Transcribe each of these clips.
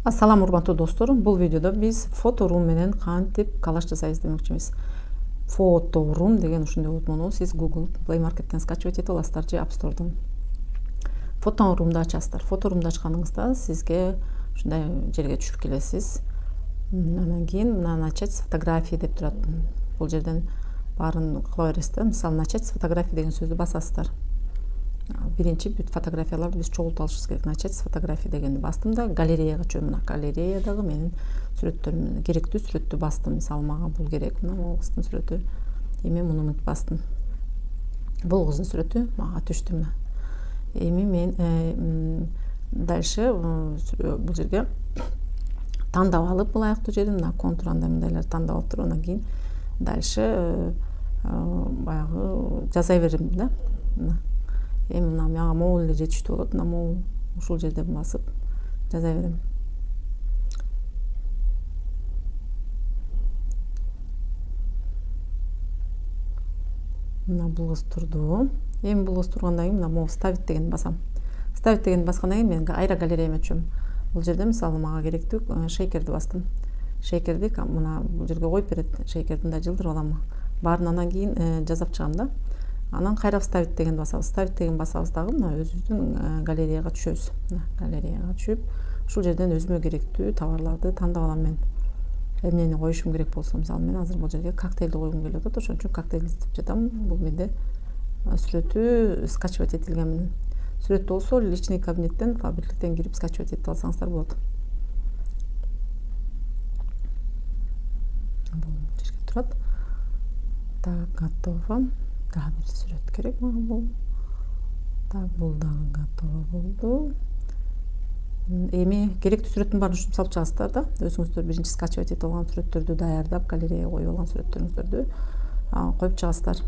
Ассаламу урматтуу достор, бул видеодо биз фоторум менен кантип коллаж жасайбыз демекчибиз. Фоторум деген ушундай болот. Муну сиз Google Play Market'тен скачивать этип аласыздар же App Store'дан. Фоторумду ачасыздар. Фоторумду ачканыңызда сизге ушундай жерге түшүп келесиз. Анан кийин мына начать с фотографии деп турат. Бул жерден баарын кыла бересиз. Мисалы, начать с фотографии деген сөздү басасыздар. Биринчи бүт фотографияларды биз чогултуп алышыбыз керек. Начать с фотографии дегенди бастым да галереяга чөм. Мына галереядагы менин сүрөттөрүм, керектүү сүрөттү бастым. Мисалы, мага бул керек. Мына бул кыздын сүрөтү. Эми муну бастым. Бул кыздын сүрөтү мага түштү мына. Эми мен дальше бул жерге тандап алып ылайыктуу жерин, мына контур андай мындайларды тандап алып туруп, анан кийин дальше баягы жаза берем да. Эми мына мага могул эле жетиштүү болот. Мына могул ушул жерден басып жаза берем. Мына бул кыз турду. Эми бул кыз тургандан кийин мына могу ставить дегенди басам. Ставить дегенди баскандан кийин мен айра галереяма түшөм. Бул жерде мисалы мага керектүү шейкерди бастым. Шейкерди мына бул жерге коюп берет. Шейкерди мындай жылдырып алам. Баарын анан кийин жазап чыгам да. Анан кайра ставить дегенди басабыз. Ставить деген басабыз дагы мына өзүбүздүн галереяга түшөбүз. Мына галереяга түшүп, ушул жерден өзүмө керектүү товарларды тандап алам мен. Эмнени коюшум керек болсо, мисалы мен азыр бул жерге коктейлди койгум келип атат, ошон үчүн коктейлди издеп жатам. Бул менде сүрөтү скачивать этилген. Сүрөт болсо личный кабинеттен, фабриктен кирип скачивать этип алсаңыздар болот. Бул жерге турат. Так, готово. Дагы бир сүрөт керек мага бул. Так, бул дагы готово болду. Эми керектүү сүрөттүн баарын ушинтип салып чыгасыздар да. Өзүңүздөр биринчи скачивать этип алган сүрөттөрдү даярдап, галереяга коюп алган сүрөттөрүңүздөрдү коюп чыгасыздар.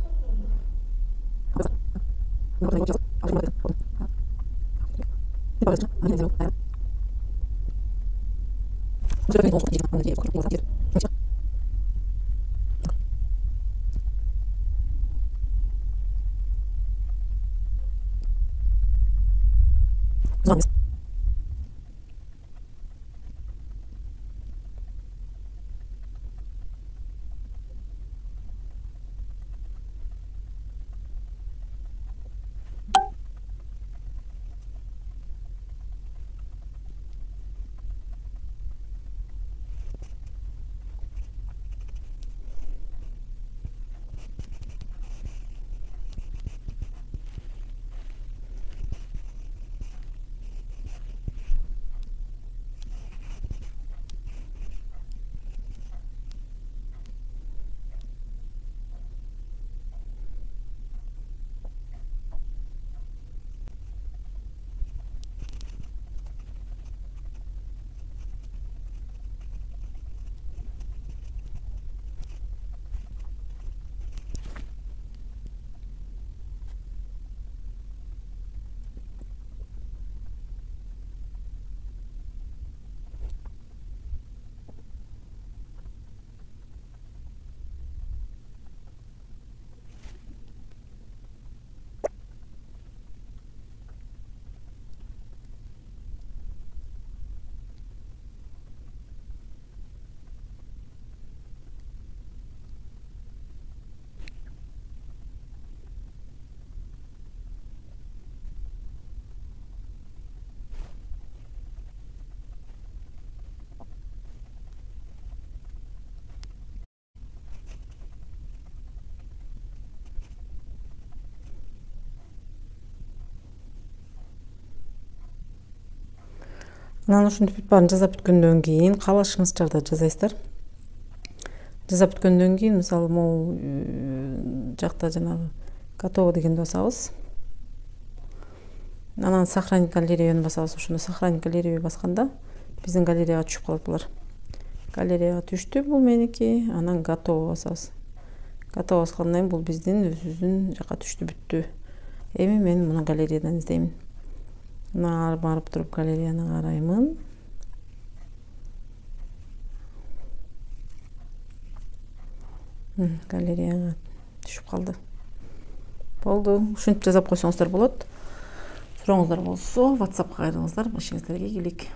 Анан ушинтип бүт баарын жасап бүткөндөн кийин каалашыңызча жасайсыздар. Жасап бүткөндөн кийин мисалы могул жакта жанагы готово дегенди басабыз. Анан сохранить галереяны басабыз. Ошондо сохранить галереяны басканда биздин галереяга түшүп калат булар. Галереяга түштү бул меники. Анан готово басабыз. Готово баскандан кийин бул биздин өзүбүздүн жака түштү, бүттү. Эми мен муну галереядан издейм. Мына барып туруп галереяны караймын. Галереяга түшүп калды. Болду. Ушинтип жасап койсоңуздар болот. Сурооңуздар болсо WhatsAppка кайрылыңыздар. Ишиңиздерге ийгилик.